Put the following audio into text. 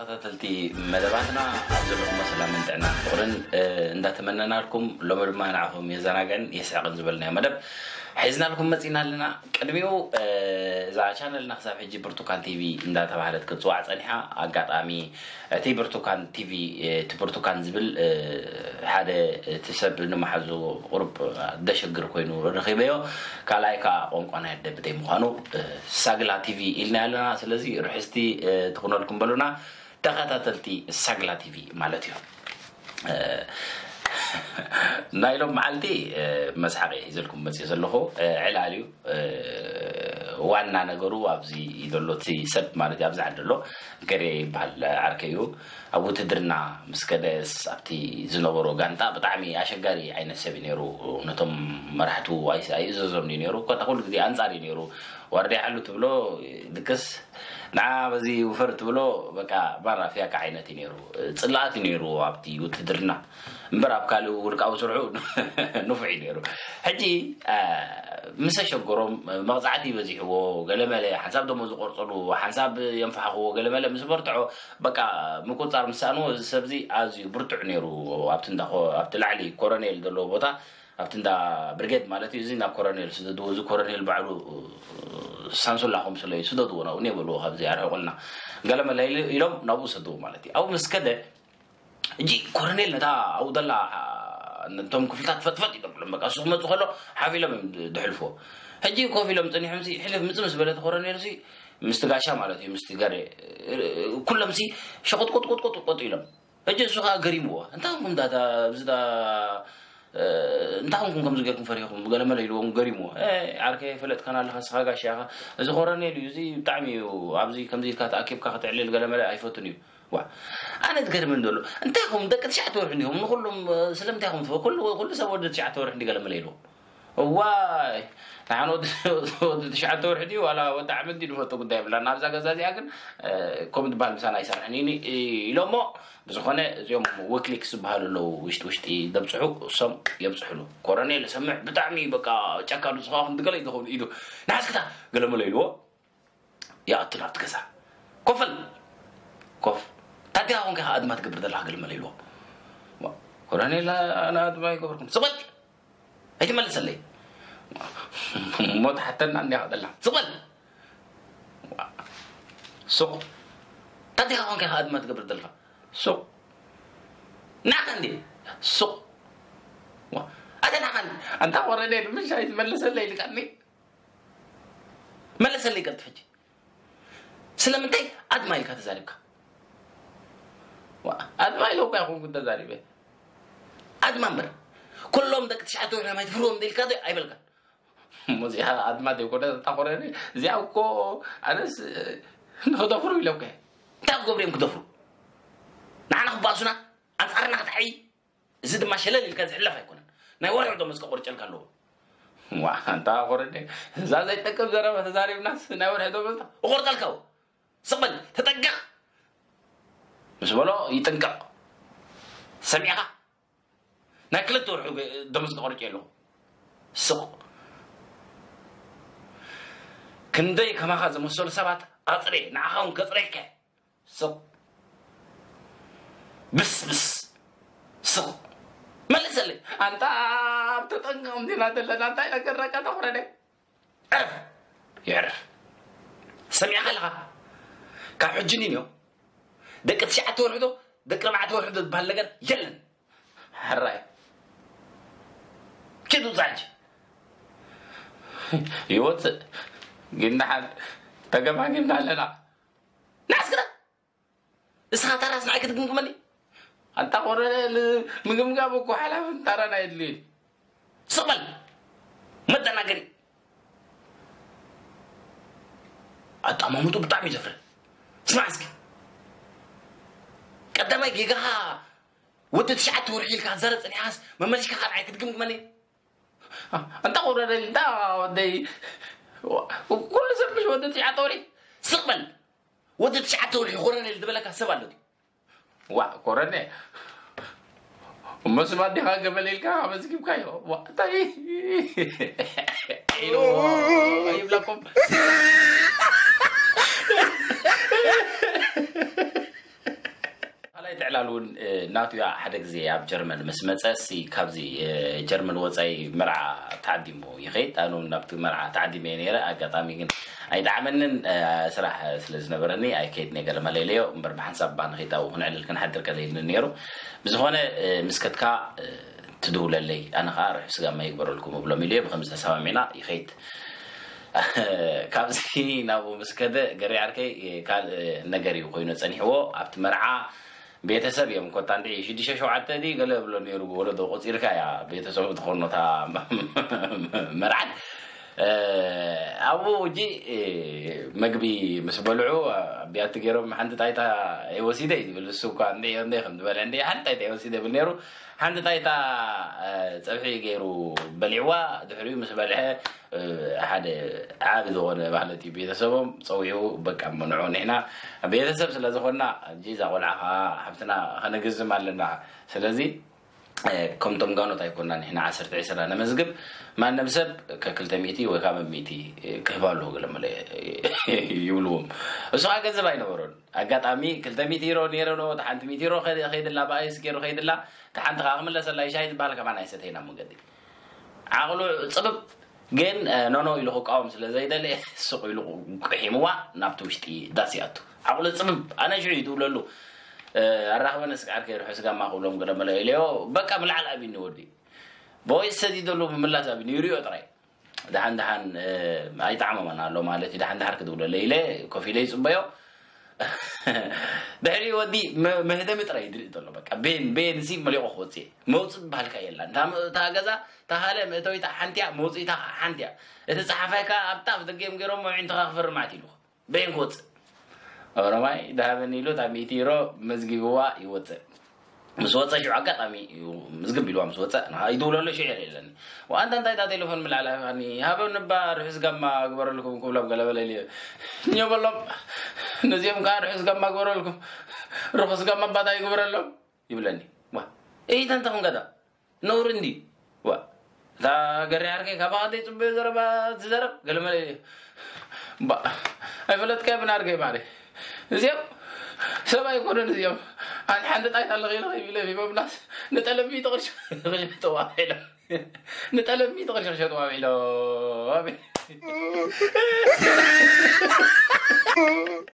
ተኸታተልቲ መደባትና ኣብ ዘለኹሞ ሰላምን ጥዕናን ፍቕርን እንዳተመነናልኩም፣ ሎሚ ድማ ንዓኹም የዘናግዕን የስዕቕን ዝበልናዮ መደብ ሒዝናልኩም መፂና ኣለና። ቅድሚኡ እዛ ቻነልና ክሳብ ሕጂ ብርቱካን ቲቪ እንዳተባህለት ክትፅዋዕ ፀኒሓ። ኣጋጣሚ እቲ ብርቱካን ቲቪ እቲ ብርቱካን ዝብል ሓደ እቲ ሰብ ንመሓዙ ቁሩብ ደሸግር ኮይኑ ረኺበዮ። ካልኣይ ከዓ ቋንቋ ናይ ኣደ ብደይ ምዃኑ ሳግላ ቲቪ ኢልና ኣለና። ስለዚ ርሕስቲ ትኹነልኩም በሉና። ተኸታተልቲ ሳግላ ቲቪ ማለት እዩ። ናይ ሎም መዓልቲ መስሓቂ ሒዘልኩም መፅእ ዘለኹ ዕላል እዩ። ዋና ነገሩ ኣብዚ ዘሎ እቲ ሰብ ማለት ኣብዚ ዓዲ ኣሎ ገሬ ይበሃል ዓርከ እዩ። ኣብ ውትድርና ምስ ከደስ ኣብቲ ዝነበሮ ጋንታ ብጣዕሚ ኣሸጋሪ ዓይነት ሰብ እዩ ነይሩ። ነቶም መራሕቱ ኣይእዘዞም እዩ ነይሩ። ኮታ ኩሉ ግዜ ኣንፃር እዩ ነይሩ። ዋርድያ ሓሉ ትብሎ ድቅስ ንዓ በዚ ውፈር ትብሎ በቃ ባራ ፍያካ ዓይነት እዩ ነይሩ። ፅላኣት እዩ ነይሩ ኣብቲ ውትድርና እምበር ኣብ ካልእ ውልቃዊ ስርሑ ንፉዕ እዩ ነይሩ። ሕጂ ምስ ኣሸገሮም መቕፃዕቲ በዚሕዎ ገለመለ ሓንሳብ ደሞ ዝቆርፀሉ ሓንሳብ የንፋሕኽዎ ገለመለ ምስ በርትዖ በቃ ምቁፃር ምሳንዎ እዚ ሰብዚ ኣዝዩ ብርቱዕ ነይሩ። ኣብቲ እንዳ ኮ- ኣብቲ ላዕሊ ኮረኔል ዘለዎ ቦታ ኣብቲ እንዳ ብርጌድ ማለት እዩ። እዚ ናብ ኮረኔል ስደድዎ፣ እዚ ኮረኔል ባዕሉ ሳንሱላ ከምስሎ እዩ ስደድዎ ናብኡ ኔበልዎ ካብዚ ኣርሕቁልና ገለመለ ኢሉ- ኢሎም ናብኡ ሰድዎ ማለት እዩ። ኣብኡ ምስ ከደ እጂ ኮረኔል ነታ ኣብኡ ዘላ ነቶም ክፍልታት ፈጥፈጥ ይገብሎም በቃ እሱ ክመፁ ከሎ ሓፍ ኢሎም እዮም ድሕልፎ። ሕጂ ኮፍ ኢሎም ፀኒሖም ሲ ሕልፍ ምፅ ምስ በለት ኮረኔል ሲ ምስቲ ጋሻ ማለት እዩ ምስቲ ገሬ ኩሎም ሲ ሸቆጥቆጥቆጥቆጥ ቆጥ ኢሎም። ሕጂ እሱ ከዓ ገሪምዎ እንታይ ኹም ዳታ ብዝዳ እንታይ ኹም ከም ዝገርኩም ፈሪኹም ገለመለ ኢልዎም ገሪምዎ። ዓርከ ፈለጥካና ኣለካ ስኻ ጋሻ ኢኻ። እዚ ኮረኔል እዩ እዚ ብጣዕሚ እዩ ኣብዚ ከምዚ ኢልካ ተኣኪብካ ክትዕልል ገለመለ ኣይፈቱን እዩ። ዋ ኣነ ትገርምን ዘሎ እንታይ ኹም ደቂ ትሽዓተ ወርሒ እንዲኹም ንኩሉም ስለምንታይ ኹም ትፈ ኩሉ ኩሉ ሰብ ወዲ ትሽዓተ ወርሒ እንዲ ገለመለ ኢልዎም። እዋይ ንሓን ወዲ ወዲ ትሽዓተ ወርሒ ድዩ ዋላ ወዲ ዓመት ድዩ ንፈቶ ጉዳይ ብላ ናብዛ ገዛ እዚኣ ግን ከም ዝበሃል ምሳና ኣይሰርሕን ኢኒ ኢሎሞ። ብዝኾነ እዚኦም ዊክሊክስ ዝበሃሉ ኣለዉ ውሽጢ ውሽጢ ደብፅሑ እሶም የብፅሕሉ። ኮረኔል ሰምዕ ብጣዕሚ በቃ ጨካኑ ዝኸውን ድገለ ይኸውን ኢሉ ንሓስክታ ገለመለ ኢልዎ። ይኣቱ ናብቲ ገዛ ኮፈል ኮፍ ታዲያ ኹን ከ ኣድማ ትገብር ዘለካ ገለመለ ኢልዎ። ኮረኔል ኣነ ኣድማ ይገበርኩም ስበል ኣይትመልሰለይ እሞ ትሓተና እንዲያ ከደላ ስቕ በል ሱቕ ታዲኻ ኮንካ ኢኻ ኣድማ ትገብር ዘለኻ ሱቕ ናኻ እንዲ ሱቕ ኣተ ናኻ ኣንታ ወረደ ንምሻ ኣይትመልሰለይ ኢልካኒ መለሰለይ ቀልጥፈች ስለምንታይ ኣድማ ኢልካ ተዛሪብካ ኣድማ ኢለ እኳ ይኹንኩ ተዛሪበ ኣድማ እምበር ኩሎም ደቂ ትሽዓተ ወርሒ ማይ ትፍርዎም ኢልካ ዶ ኣይበልካን እሞ እዚኣ ኣድማ ዘይኮነ እታ ኮረኒ እዚኣ እኮ ኣነስ ንክደፍሩ ኢለ እኮ እንታይ ክገብሩ እዮም ክደፍሩ ንዓና ክባእሱና ኣንፃርና ክትዓይ እዚ ድማ ሸለል ኢልካ ዝሕለፍ ኣይኮነን ናይ ወርሒ ደሞዝ ከቆርጨልካ ኣለዎ ዋ ኣንታ ኮረኒ እዛ ዘይጠቅም ዘረባ ተዛሪብናስ ናይ ወርሒ ደሞዝ እቆርጠልካ ስቕ በል ተጠንቀቕ ምስ በሎ ይጥንቀቕ ሰሚዕኻ ናይ ክልተ ወርሑ ደሞዝ ተቆርጨ ኣለኹ ስቕ ክንደይ ከማኻ ዝመሰሉ ሰባት ኣፅሬ ንዓኻ እውን ከፅሬከ ስቕ ብስብስ ስቕ መልሰለይ ኣንታ ኣብ ተጠንቀቕ እንዲና ዘለና እንታይ ነገረካ ተኩረደ ዕረፍ የዕረፍ ሰሚዕካ ኣለኻ ካብ ሕጂ ንንዮ ደቂ ትሽዓተ ወርሒ ዶ ደቂ ኣርባዕተ ወርሒ ዶ ዝበሃል ነገር የለን ሕራይ ኪዱ ዛጅ ይወፅእ ግን ደሓን ተገማጊምና ኣለና ንዓስክና እስኻ ታራስ ንዓይ ክትግምግመኒ ኣንታ ቆረ ምግምጋም እኮ ሓላፍን ታራን ኣየድልዩን ስቕ በል መደናገሪ ኣጠማምጡ ብጣዕሚ እዩ ዘፍረ ስማዕ እስኪ ቀዳማይ ጌጋኻ ወዲ ትሽዓተ ወርሒ ኢልካ ዘረ ፅኒሓስ መመሊሽካ ካልዓይ ክትግምግመኒ እንታ ቁረደ እንታ ወደይ ኩሉ ሰብ ምሽ ወዲ ትሽዓተ ወርሒ ስቕ በል ወዲ ትሽዓተ ወርሒ ኮረኔል ዝበለካ ሰብ ኣሎ ድዩ ዋዕ ኮረኔ እሞ ስም ኣዴኻ ገበል ኢልካ ኣመዝጊብካዮ እንታይ ኢሉ ይብለኩም እውን ናቱ ሓደ ግዜ ኣብ ጀርመን ምስ መፀ ሲ ካብዚ ጀርመን ወፃኢ መርዓ ተዓዲሙ ይኸይድ። ኣነ እውን ናብቲ መርዓ ተዓዲመ እየ ነይረ። ኣጋጣሚ ግን ኣይጠዓመንን። ስራሕ ስለ ዝነበረኒ ኣይከይድን እየ። ገለ መለለዮ እምበር ብሓንሳብ ባንኺት ኣብኡ ክንዕልል ክንሓድር ገለ ኢልኒ ነይሩ። ብዝኾነ ምስ ከድካ ትድውለለይ፣ ኣነ ከዓ ርሑስ ጋማ ይግበረልኩም እብሎም ኢሉ እየ። ብከምዚ ተሰማሚዕና ይኸይድ። ካብዚ ናብኡ ምስ ከደ ገሪ ዓርከይ ካልእ ነገር እዩ ኮይኑ ፀኒሕዎ። ኣብቲ መርዓ ቤተሰብ እዮም ኮታ እንዲ ሽዱሽተ ሸውዓተ ዲ ገለ ብሎ ነይሩ። ወለዶ ቆፂርካ እያ ቤተሰቡ ትኾኖታ መርዓት። ኣብኡ እጂ መግቢ ምስ በልዑ ቢያቲ ገይሮም ሓንቲ ጣይታ ወሲደ እዩ ዝብል። እሱ እኳ እንደ እንደ ከም ዝበለ እንደ ሓንቲ ጣይታ ወሲደ ብል ነይሩ። ሓንቲ ጣይታ ፀብሒ ገይሩ በሊዕዋ። ድሕሪኡ ምስ በልዐ ሓደ ዓቢ ዝኾነ ማለት እዩ ቤተሰቦም ፀዊዑ በቃ መንዖ። ንሕና ቤተሰብ ስለ ዝኾንና እጂ እዛ ቆልዓ ከዓ ሓፍትና ከነግዝም ኣለና። ስለዚ ከምቶም ጋኖት ኣይኮና ንሕና ዓሰርተ ዕስራ ነመዝግብ። ማንም ሰብ ከክልተ ሚእቲ ወይ ካብ ሚእቲ ክህባ ኣለዎ ገለ መለ ይብልዎም። እሱ ከዓ ገንዘብ ኣይነበሮን። ኣጋጣሚ ክልተ ሚእቲ ዩሮ ነይረ ዶ ሓንቲ ሚእቲ ዩሮ ከይድላ ብኣይስ ገይሩ ከይድላ። እታ ሓንቲ ከዓ ክምለሰላ ይሻይ ዝበሃል ከማን ኣይሰተይና መገዲ ዓቕሉ ፅብብ ግን ኖኖ ኢሉ ክቃወም ስለ ዘይደለ ስቕ ኢሉ ቁሒምዋ ናብቲ ውሽጢ ዳስ ይኣቱ። ዓቕሉ ፅብብ ኣነ ሽዑ ይትብለሉ። ኣራኽበነ ስጋር ከይርሑ ስጋማ ክብሎም ገለ መለ ኢለዮ። በቃ ብላዕሊ ኣቢኒ ወዲ ቦይ ሰዲደሉ ብምላስ ኣቢኒ ይሪኦ ጥራይ። ደሓን ደሓን ኣይጣዕመመን ኣሎ ማለት እዩ። ደሓን ደሓር ክድውለለ ኢለ ኮፍ ኢለ ይፅበዮ። ድሕሪ ወዲ መህደሚ ጥራይ ይድርኢ ዘሎ። በቃ ቤን ቤን ሲ መሊቑ ክወፅእ መውፅእ ዝበሃልካ የላ። እታ ገዛ ተሃለ መእተዊታ ሓንቲያ መውፅኢታ ሓንቲያ። እቲ ፀሓፋይ ከዓ ኣብታ ኣፍ ደገ እዮም ገይሮሞ። ዕንትኻ ክፈርም ኣት ኢሉ ቤን ክወፅእ ኦሮማይ ደሃበኒ ኢሉ እታ ሚእቲ ዩሮ መዝጊብዋ ይወፅእ። ምስ ወፀ ሽዑ ኣጋጣሚ እዩ ምዝግብ ኢልዋ ምስ ወፀ ይድውለሎ ሽዑ የለ የለኒ። ዋንታ እንታይ እታ ቴሌፎን ምላዕላ ሃበ ንባ ርሑስ ጋማ ግበረልኩም ክብሎም ገለበለ ኢለ። እኛ በሎም ነዚኦም ከዓ ርሑስ ጋማ ግበረልኩም። ርሑስ ጋማ ባታ ይግበረሎም ይብለኒ። ዋ እይተ እንተኹም ገዳ ነውሪ እንዲ ዋ እታ ገሪ ዓርከይ ካባኻ ዘይፅበዮ ዘረባ ትዘረብ ገለመለ። ባ ኣይፈለጥካዮ ብናርገይ ማሪ እዚኦም ሰብ ኣይኮኑን። እዚኦም ኣን ሓንቲ ጣይታ ኣለኺ ኢለ ከይቢለ ሂቦምናስ ንጠለብ ሚእቲ ቅርሺ ክሸጥዋ ኢሎም ንጠለብ ሚእቲ ቅርሺ ክሸጥዋ ኢሎም።